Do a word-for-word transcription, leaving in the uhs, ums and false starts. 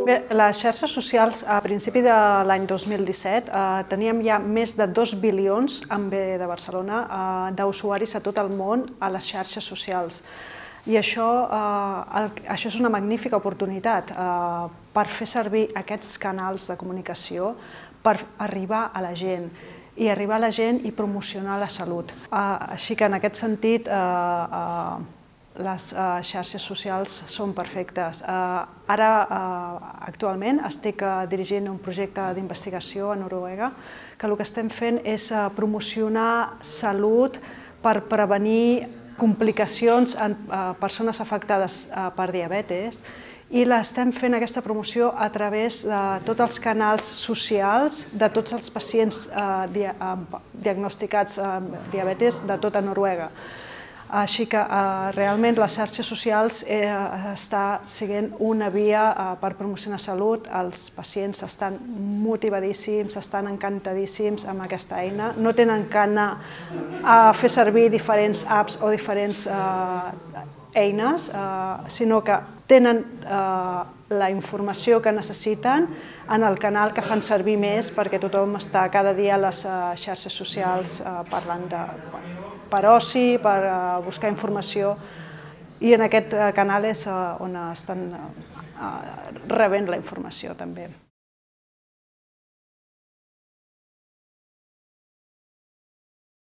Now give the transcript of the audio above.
Bé, les xarxes socials, a principi de l'any dos mil disset, eh, teníem ja més de dos bilions, en B de Barcelona, eh, d'usuaris a tot el món a les xarxes socials. I això, eh, el, això és una magnífica oportunitat eh, per fer servir aquests canals de comunicació per arribar a la gent i arribar a la gent i promocionar la salut. Eh, així que en aquest sentit, eh, eh, les uh, xarxes socials són perfectes. Uh, ara, uh, actualment, estic uh, dirigint un projecte d'investigació a Noruega que el que estem fent és uh, promocionar salut per prevenir complicacions en uh, persones afectades uh, per diabetis i l'estem fent aquesta promoció a través de tots els canals socials de tots els pacients uh, dia uh, diagnosticats amb uh, diabetis de tota Noruega. Així que eh, realment les xarxes socials eh, està sent una via eh, per promocionar salut. Els pacients estan motivadíssims, estan encantadíssims amb aquesta eina. No tenen que anar a fer servir diferents apps o diferents eh, eines, eh, sinó que tenen eh, la informació que necessiten en el canal que fan servir més perquè tothom està cada dia a les uh, xarxes socials uh, parlant de, per oci, per uh, buscar informació i en aquest uh, canal és uh, on estan uh, rebent la informació també.